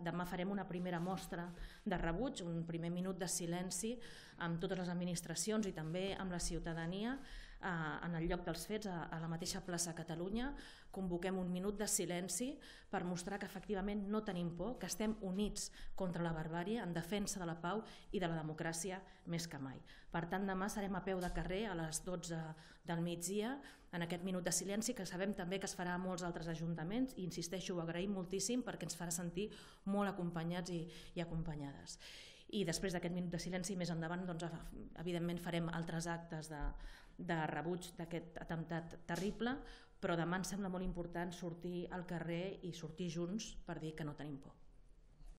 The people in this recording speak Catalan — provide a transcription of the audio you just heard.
demà farem una primera mostra de rebuig, un primer minut de silenci amb totes les administracions i també amb la ciutadania en el lloc dels fets, a la mateixa plaça Catalunya. Convoquem un minut de silenci per mostrar que efectivament no tenim por, que estem units contra la barbàrie, en defensa de la pau i de la democràcia més que mai. Per tant, demà serem a peu de carrer a les 12 del migdia en aquest minut de silenci, que sabem també que es farà a molts altres ajuntaments i, insisteixo, ho agraïm moltíssim perquè ens farà sentir molt acompanyats i acompanyades. I després d'aquest minut de silenci, més endavant, evidentment farem altres actes de rebuig d'aquest atemptat terrible, però demà ens sembla molt important sortir al carrer i sortir junts per dir que no tenim por.